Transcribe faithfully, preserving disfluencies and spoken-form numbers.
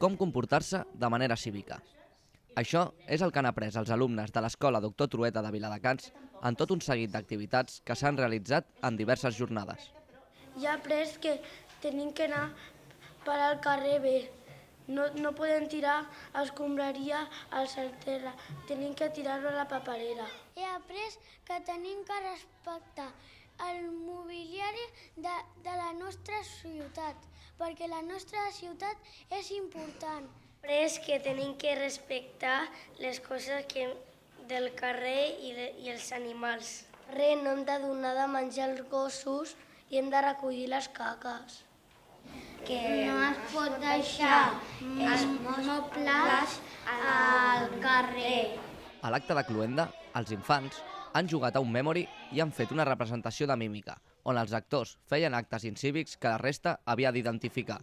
com comportar-se de manera cívica. Això és el que han après els alumnes de l'Escola Doctor Trueta de Viladecans en tot un seguit d'activitats que s'han realitzat en diverses jornades. Ja he après que tenim que anar per al carrer bé. No, no podem tirar escombraria al terra, tenim que tirar-ho a la paperera. He après que tenim que respectar el mobiliari de, de la nostra ciutat, perquè la nostra ciutat és important. He après que tenim que respectar les coses que, del carrer i, de, i els animals. Re, no hem de donar de menjar als gossos i hem de recollir les caques. Que no es pot deixar els mobles al carrer. A l'acte de cloenda, els infants han jugat a un memory i han fet una representació de mímica, on els actors feien actes incívics que la resta havia d'identificar.